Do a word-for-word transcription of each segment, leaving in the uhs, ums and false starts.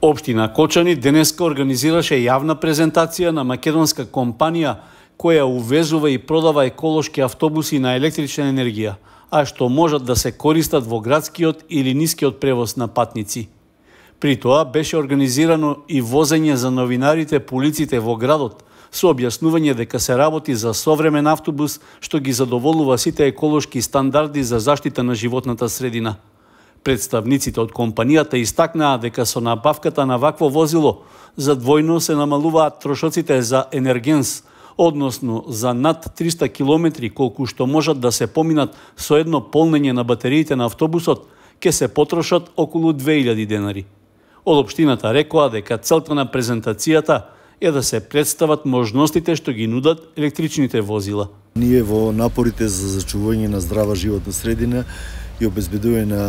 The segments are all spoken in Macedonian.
Општина Кочани денеска организираше јавна презентација на македонска компанија која увезува и продава еколошки автобуси на електрична енергија, а што можат да се користат во градскиот или нискиот превоз на патници. При тоа беше организирано и возење за новинарите по улиците во градот, со објаснување дека се работи за современ автобус што ги задоволува сите еколошки стандарди за заштита на животната средина. Представниците од компанијата истакнаа дека со набавката на вакво возило за двојно се намалуваат трошоците за енергенс, односно за над триста километри колку што можат да се поминат со едно полнење на батериите на автобусот, ќе се потрошат околу две илјади денари. Од општината рекоа дека целта на презентацијата е да се представат можностите што ги нудат електричните возила. Ние во напорите за зачувување на здрава животна средина и обезбедување на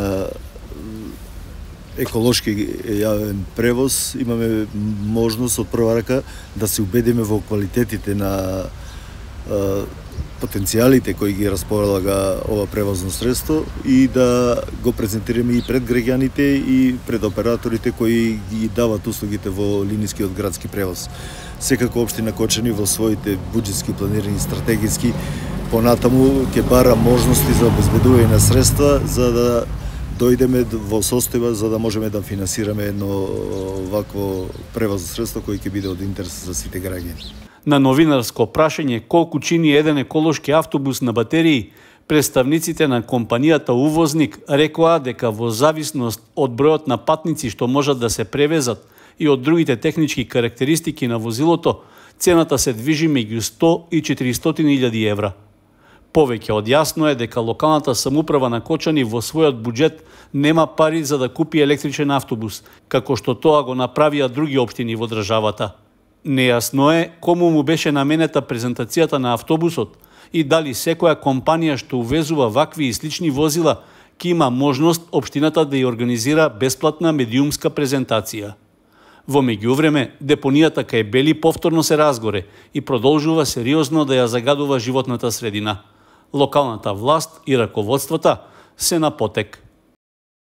еколошки јавен превоз имаме можност од прва рака да се убедиме во квалитетите на е, потенцијалите кои ги располага ова превозно средство и да го презентираме и пред граѓаните и пред операторите кои ги дават услугите во линискиот градски превоз. Секако општина Кочани во своите буџетски планирање стратегиски понатаму ќе бара можности за обезбедување на средства за да дојдеме во состојба за да можеме да финансираме едно вакво превозно средство кој ќе биде од интерес за сите граѓани. На новинарско прашање колку чини еден еколошки автобус на батерии, представниците на компанијата увозник рекоа дека во зависност од бројот на патници што можат да се превезат и од другите технички карактеристики на возилото, цената се движи меѓу сто и четиристотини илјади евра. Повеќе од јасно е дека локалната самоуправа на Кочани во својот буџет нема пари за да купи електричен автобус, како што тоа го направија други општини во државата. Нејасно е кому му беше наменета презентацијата на автобусот и дали секоја компанија што увезува вакви и слични возила ќе има можност општината да ја организира бесплатна медиумска презентација. Во меѓувреме, депонијата кај Бели повторно се разгоре и продолжува сериозно да ја загадува животната средина. Локалната власт и раководствата се на потек.